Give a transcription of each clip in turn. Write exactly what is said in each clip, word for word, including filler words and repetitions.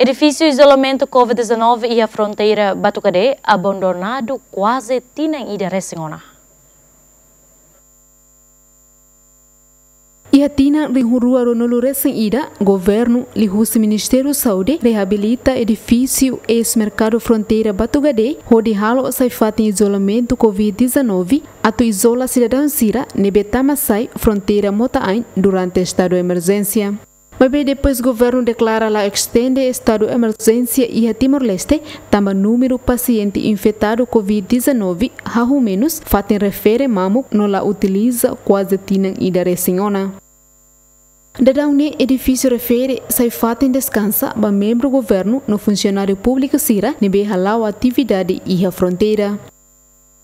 Edifísiu izolamentu covid dezanove iha fronteira Batugade abandonadu kuaze tinan ida resin ona. Iha tinan rihun rua ruanulu resin ida, governu liuhusi Ministériu Saúde reabilita edifísiu eis-merkadu fronteira Batugade, hodi halo sai fatin izolamentu covid dezanove, atu izola sidadaun sira ne'ebé tama sai fronteira Mota-Ain durante estadu emerjénsia. Maibé depois governu deklara la estende estadu emerjénsia iha Timor-Leste, tanba númeru pasiente infetadu covid dezanove hahú menus, fatin refere mamuk no la utiliza kuaze tinan ida resin ona. Daudaun ne'e edifísiu refere sai fatin deskansa ba membru governu no funsionáriu públiku sira ne'ebé hala'o atividade iha fronteira.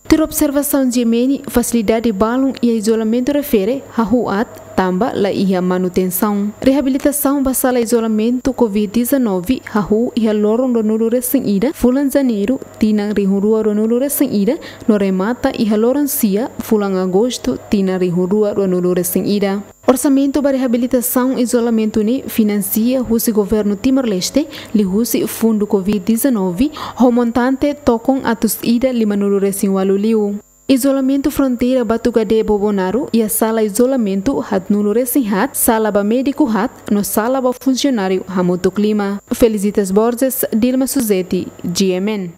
Tuir observasaun G M N, fasilidade balun iha izolamentu refere hahú aat, tanba la iha manutensaun. Reabilitasaun ba sala izolamentu covid dezanove hahú iha loron ruanulu resin ida, fulan Janeiru, tinan rihun rua ruanulu resin ida, no remata iha loron sia, fulan Agostu, tinan rihun rua ruanulu resin ida. Orsamentu ba reabilitasaun izolamentu ne'e finansia husi governu Timor-Leste, liuhusi fundu covid dezanove, ho montante tokon atus ida limanulu resin ualu liu. Izolamentu fronteira Batugade Bobonaro iha sala izolamentu haatnulu resin haat, sala ba médiku haat, no sala ba funsionáriu hamutuk lima. Felicitas Borges, Dilma Suzeti, G M N.